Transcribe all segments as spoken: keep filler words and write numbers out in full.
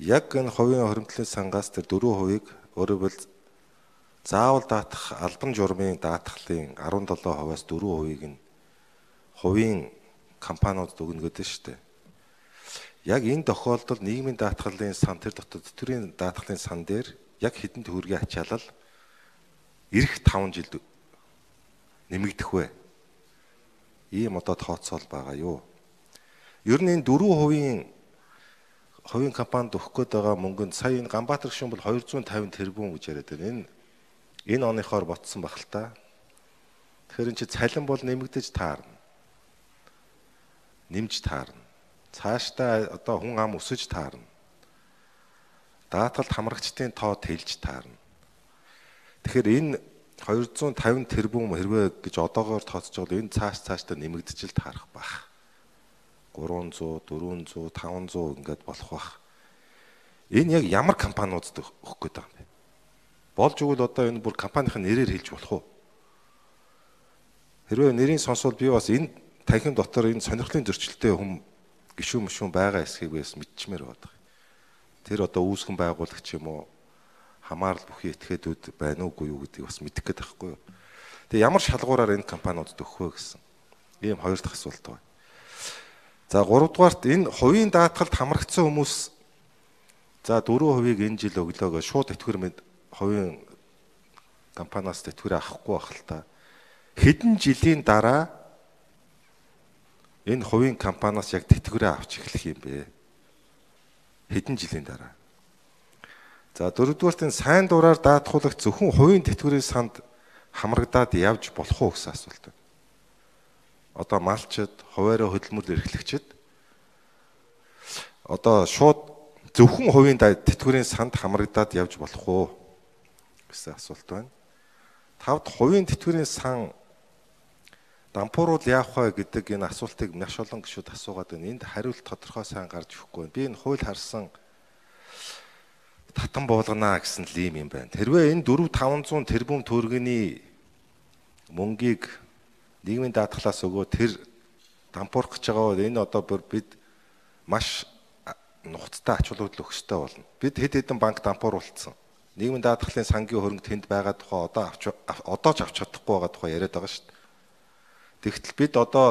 яг энэ хувийн хоригдлын сангаас тэр дөрвөн хувийг өөрөөр хэлбэл заавал даатах албан журмын даатгалын арван долоо хувиас дөрвөн хувийг нь хувийн компаниуд өгнө гэдэг шүү дээ. Яг энэ тохиолдолд нийгмийн даатгалын сан тэр дотор тэтгэврийн даатгалын сан дээр яг хэдэн төгрөгийн ачаалал ирэх таван жилд нэмэгдэх вэ? Ийм одоо тооцоол байгаа юу? Ер нь энэ дөрвөн хувийн хувийн компанид өгөх гээд байгаа мөнгөнд сая энэ Ганбаатар гишүүн бол хоёр зуун тавин тэрбум гэж яриад байна. Энэ энэ оныхоор ботсон баг л та. Тэгэхээр энэ чи цалин бол нэмэгдэж таарна. Нэмж таарна. Цаашдаа одоо хүн ам өсөж таарна. Даатгалд хамрагчдын тоо тэлж таарна. Тэгэхээр энэ хоёр зуун тавин тэрбум хэрвээ гэж одоогоор тооцож байгаа энэ цааш цаашдаа нэмэгдэж л таарах байх. гурван зуун, дөрвөн зуун, таван зуун ингээд болох байх. Энэ яг ямар компаниудад өгөх гээд байгаа юм бэ? Болж игэл одоо энэ бүр компанийн нэрээр хэлж болох уу? Хэрвээ нэрийг сонсвол би бас энэ танхим дотор энэ сонирхлын зөрчилтэй хүм гişүүн мөшүүн байгаа эсхийг бас мэдчмээр байгаа. Тэр одоо үүсгэн байгуулагч юм уу? Хамаарал бүхий этгээдүүд байна уугүй юу гэдгийг бас мэдэх гээд байхгүй юу? Тэгээ ямар шалгуураар энэ компаниудад өгөх вэ гэсэн ийм хоёр дахь асуулт байна. За гуравдугаарт энэ хувийн даатгалд хамрагдсан хүмүүс за дөрвөн хувийг энэ жил өглөөгөө шууд тэтгэвэр мэд хувийн компаниас тэтгэвэр авахгүй байх л та. Хэдэн жилийн дараа энэ хувийн компаниас яг тэтгэврээ авч эхлэх юм бэ? Хэдэн жилийн дараа? За дөрөвдүгээрт энэ сайн дураар даатгуулагч зөвхөн хувийн тэтгэврийн санд хамрагдаад явж болох уу гэсэн асуулт байна. Одоо малчид, хуваараа хөдөлмөр эрхлэгчид одоо шууд зөвхөн хувийн тэтгэврийн санд хамрагдаад явж болох уу гэсэн асуулт байна. Тавд хувийн тэтгэврийн сан дампууруул яах вэ гэдэг энэ асуултыг маш олон гишүүд асуугаад байна. Энд хариулт тодорхой сайн гарч ирэхгүй байна. Би энэ хууль харсан татан буулгана гэсэн л юм юм байна. Хэрвээ энэ дөрвөн таван зуун тэрбум төгрөгийн мөнгийг нийгмийн даатгалаас өгөө тэр дампуурах гэж байгаа бол энэ одоо бид маш нухацтай ач холбогдол өгөх ёстой болно. Бид хэд хэдэн банк дампууруулсан. Нийгмийн даатгалын сангийн хөрөнгө тэнд байгаа тухай одоо авч одоо ч авч чадахгүй байгаа тухай яриад байгаа шүү дээ. Тэгтэл бид одоо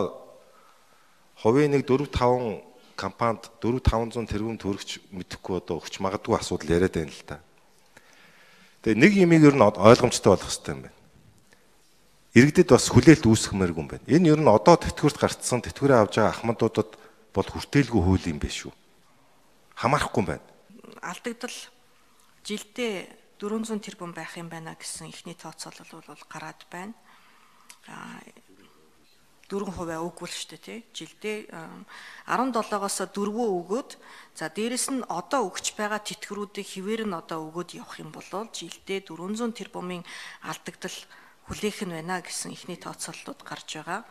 хувийн нэг дөрвөн таван компанид дөрвөн таван зуун тэрбум төгрөгч мэдэхгүй одоо өгч магадгүй асуудал яриад байна л да. Тэгээ нэг юмыг ер нь ойлгомжтой болох хэрэгтэй юм байна. Иргэдэд бас хүлээлт үүсгэмээргүй юм байна. Энэ ер нь одоо тэтгэврт гарцсан тэтгэврээ авж байгаа ахмадуудад бол хүртээлгүй хууль юм биш үү? Хамаарахгүй юм байна. Алдагдал жилдээ дөрвөн зуун тэрбум байх юм байна гэсэн ихний тооцоолол бол гараад байна. дөрвөн хувиа үггүй л шүү дээ тий. Жилдээ арван долоогоос дөрвөө өгөөд за дээрэс нь одоо өгч байгаа тэтгэврүүдийг хിവэр нь одоо өгөөд явах юм бол жилдээ дөрвөн зуун тэрбумын алдагдал хүлээх нь байна гэсэн ихний тооцооллууд гарч байгаа.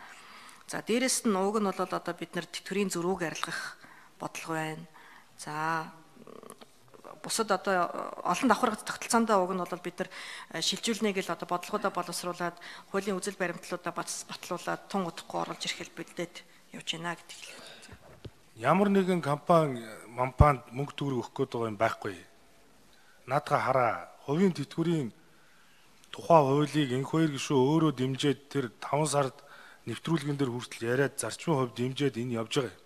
За дээрэс нь ууг нь бол одоо бид нар тэтгэврийн зөрүүг арилгах бодлого байна. За бусад одоо олон давхаргад тогтолцоондоо уг нь бол бид нар шилжүүлнэ гэл одоо бодлогоодоо боловсруулад хуулийн үзэл баримтлуудаа батлуулаад тун удахгүй оруулж ирэх хэлбэлдээд явж байна гэдэг л. Ямар нэгэн компани мампанд мөнгө төгрөг өгөх гээд байгаа юм байхгүй. Наадга хараа хувийн тэтгэврийн тухай хуулийг энх хоёр гишүү өөрөө дэмжиж тэр таван сард нэвтрүүлгэн дээр хүртэл яриад зарчмын хувьд дэмжиж энэ явж байгаа юм.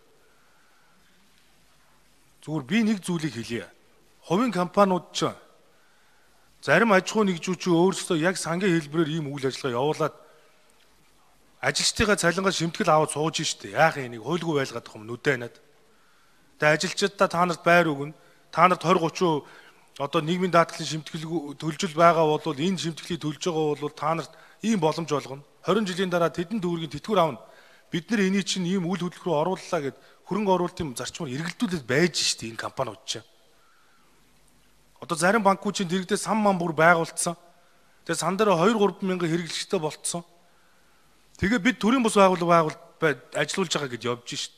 Зүгээр би нэг зүйлийг хэлье. Хувийн компаниуд ч зарим аж ахуй нэгжүүч өөрсдөө яг сангийн хэлбэрээр ийм үйл ажиллагаа явуулаад ажилчдынхаа цалингаа шимтгэл аваад сууж штэ. Яах юм нэг хуйлгүй байлгаад байгаа юм нүдэнад. Тэгээ ажилчдаа та нарт байр өгнө. Та нарт двадцать тридцать одоо нийгмийн даатгалын шимтгэл төлжөл байгаа бол энэ шимтгэлийг төлж байгаа бол та нарт ийм боломж олгоно. двадцать жилийн дараа тэдэн төгрөгийн тэтгэвэр авна. Бид нар энийг чинь ийм үйл хөдлөлт рүү орууллаа гэд хөрөнгө оруулалтын зарчмаар эргэлдүүлээд байж штэ энэ компаниуд чинь. Одоо зарим банкуд чинь дэрэгдээ сан ман бүр байгуулсан. Тэгээ сан дээр хоёр гурван мянган хэрэглэгчтэй болцсон. Тэгээ бид төрийн бус байгууллага байгуул ажиллуулж байгаа гэд явж шít.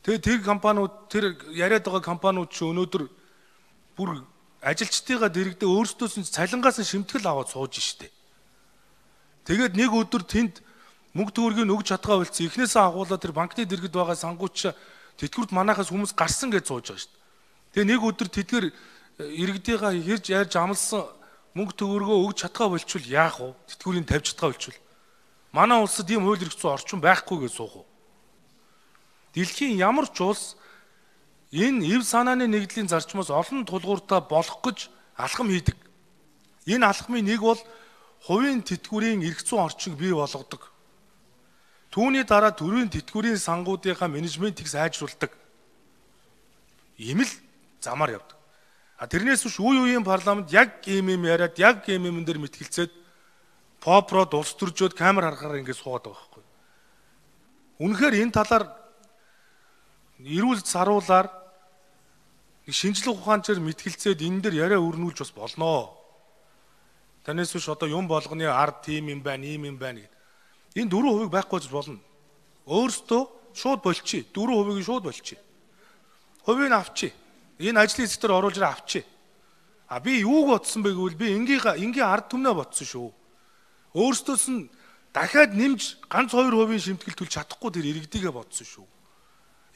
Тэгээ тэр компаниуд тэр яриад байгаа компаниуд чи өнөөдөр бүр ажилчдыгаа дэрэгдээ өөрсдөөс нь цалингаас нь шимтгэл аваад сууж шít. Тэгээд нэг өдөр тэнд мөнгө төгрөгийг өгч чадгаа болцсон. Эхнээсээ агуулаад тэр банкны дэргэд байгаа сангууч тэтгэврт манахаас хүмүүс гарсан гэж сууж байгаа шít. Тэгээ нэг өдөр тэдгээр иргэдийнхаа хэрж ярьж амлсан мөнгө төгрөгөө өгч чадгаа болчвол яах вэ? Тэтгэврийн тавьж чадгаа болчвол. Манай улсад ийм хууль эрх зүйн орчин байхгүй гэж суух уу? Дэлхийн ямар ч улс энэ эв санааны нэгдлийн зарчмаас олон тулгууртаа болох гэж алхам хийдэг. Энэ алхмын нэг бол хувийн тэтгэврийн эрх зүйн орчинг бий болгодог. Түүний дараа төрийн тэтгэврийн сангуудынхаа менежментийг сайжруулдаг. Ийм л замаар явдаг. А тэрнээс биш үе үеийн парламент яг ийм юм яриад яг ийм юм дээр мэтгэлцээд попро улс төржөөд камер харахаар ингэж суугаад байгаа байхгүй. Үнэхээр энэ талаар эрүүл саруулаар нэг шинжлэх ухаанчаар мэтгэлцээд энэ дээр яриа өрнүүлж бас болноо. Танаас биш одоо юм болгоны ард тийм юм байна, ийм юм байна гэдэг. Энэ дөрвөн хувийг байхгүй гэж болно. Өөрөөсөө шууд болчих. Дөрвөн хувийг шууд болчих. Хувийг авчи. Энэ ажлын хэсэг дээр оруулж ирээ авчи. А би юуг бодсон бэ гэвэл би энгийн энгийн ард түмнээ бодсон шүү. Өөрөөсөөс нь дахиад нэмж ганц хоёр хувийн шимтгэл төлж чадахгүй тэр иргэдийгээ бодсон шүү.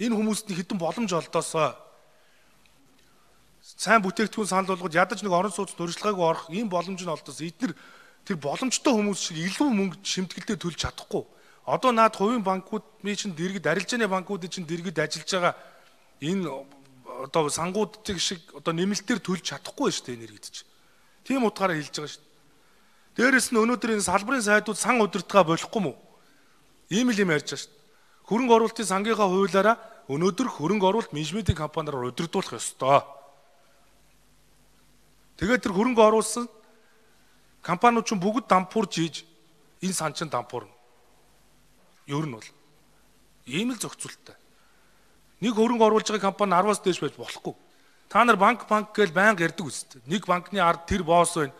Энэ хүмүүст нь хэдэн боломж олдоосоо сайн бүтээгдэхүүн санал болгоод ядаж нэг орон сууц дуржлагаагүй орох ийм боломж нь олдоос эдгээр тэр боломжтой хүмүүс шиг илүү мөнгө шимтгэлдээ төлж чадахгүй. Одоо наад хувийн банкуд ми чинь дэргэд арилжааны банкуудын чинь дэргэд ажиллаж байгаа энэ одоо сангуудтыг шиг одоо нэмэлтээр төлж чадахгүй шүү дээ энэ иргэд чинь. Тийм утгаараа хэлж байгаа шүү дээ. Дээрээс нь өнөөдөр энэ салбарын сайдууд сан удирдгаа болохгүй мүү? Ийм л юм ярьж байгаа шүү дээ. Хөрөнгө оруулалтын сангийнхаа хуулиараа өнөөдөр хөрөнгө оруулалт менежментийн компаниар удирдуулах ёстой. Тэгээд тэр хөрөнгө оруулсан компаниуд ч бүгд дампуурж ийж энэ сан чин дампуурна. Ер нь бол ийм л зохицуулттай. Нэг хөрөнгө оруулж байгаа компани араваас дээш байж болохгүй. Та нар банк банк гэж байнга ярьдаг үстэй. Нэг банкны ард тэр босс байна.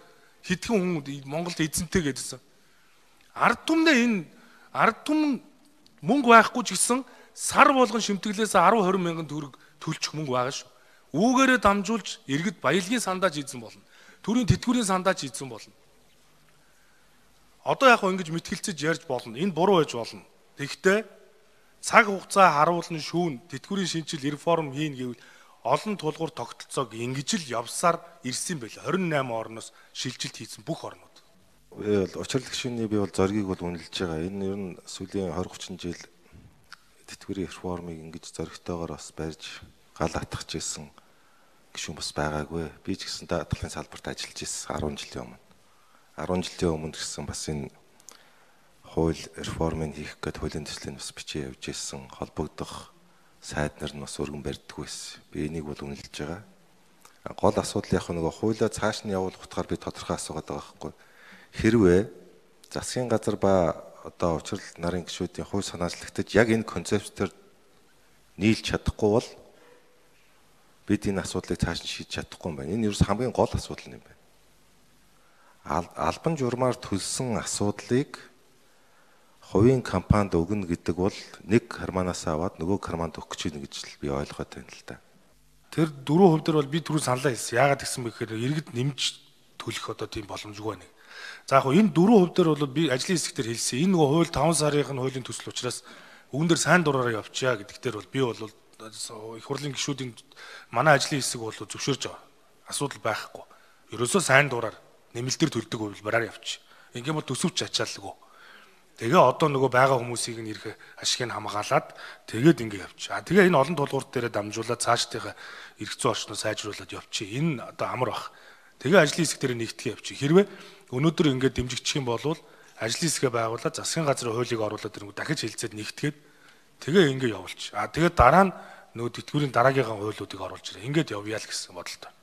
Хитгэн хүн Монголд эзэнтэй гэдсэн. Ард түмнээ энэ ард түмэн мөнгө байхгүй ч гэсэн сар болгон шимтгэлээс арав хорин мянган төгрөг төлчих мөнгө байгаа шүү. Үүгээрээ дамжуулж иргэд баялагын сандаж ийдсэн болно. Төрийн тэтгэврийн сандаж ийдсэн болно. Одоо яг ингэж мэтгэлцэж ярьж болно. Энэ буруу байж болно. Тэгэхдээ цаг хугацаа харуулна шүүн тэтгэврийн шинжил реформ хийн гэвэл олон тулгуур тогтолцоог ингэж л явсаар ирсэн байл. хорин найман орноос шилжилт хийсэн бүх орнууд. Би бол учрал гишүүний би бол зоригийг бол үнэлж байгаа. Энэ ер нь сүүлийн двадцать тридцать жил тэтгэврийн реформыг ингэж зоригтойгоор бас барьж гал атгах гэсэн гишүүн бас байгаагүй. Би ч гэсэн даатгалын салбарт ажиллаж ирсэн десять жилийн өмнө. десять жилийн өмнө гэсэн бас энэ хууль реформыг хийх гээд хуулийн төслийн бас бичиж явж ирсэн холбогдох сайд нар нь бас өргөн барьдаггүй байсан. Би энийг бол үнэлж байгаа. Гол асуудал яг нэг хуулиа цааш нь явуулах утгаар би тодорхой асуугаад байгаа байхгүй. Хэрвээ засгийн газар ба одоо учрал нарын гишүүдийн хууль санаачлагтад яг энэ концептээр нийлж чадахгүй бол бид энэ асуудлыг цааш нь шийдэж чадахгүй юм байна. Энэ ерөөс хамгийн гол асуудал юм байна. Албан журмаар төлсөн асуудлыг хувийн компанид өгнө гэдэг бол нэг карманаас аваад нөгөө карманд өгөх гэж байна гэж л би ойлгоод байна л да. Тэр дөрвөн хувь дээр бол би түрүү саналаа хэлсэн. Яагаад гэсэн бэ гэхээр иргэд нэмж төлөх одоо тийм боломжгүй байна. За яг энэ дөрвөн хувь дээр бол би ажлын хэсгээр хэлсэн. Энэ нөгөө хууль таван сарын хуулийн төсөл учраас үүн дээр сайн дураараа явчихъя гэдэг дээр бол би бол их хурлын гишүүдийн манай ажлын хэсэг бол зөвшөөрж байгаа. Асуудал байхгүй. Ерөөсөө сайн дураар нэмэлтээр төлдөг хувилбараар явчих. Ингээм бол төсөвч ачаалгүй. Тэгээ одоо нөгөө байгаа хүмүүсийг нь ирэх ашигыг хамгаалаад тэгээд ингэ явчих. А тэгээ энэ олон тулгуурт дээр дамжуулаад цаашдынхаа эрх зүйн орчноо сайжруулад явчих. Энэ одоо амар бах. Тэгээ ажлын хэсэг дээр нэгтгэх явчих. Хэрвээ өнөөдөр ингэ дэмжигдчих юм бол ажлын хэсгээ байгуулаад засгийн газрын хуулийг оруулаад ирэнгүү дахиж хэлцээд нэгтгээд тэгээ ингэ явуулчих. А тэгээд дараа нь нөгөө тэтгэврийн дараагийнхаа хуулиудыг оруулж ирээ. Ингээд явъя л гэсэн бодолтой.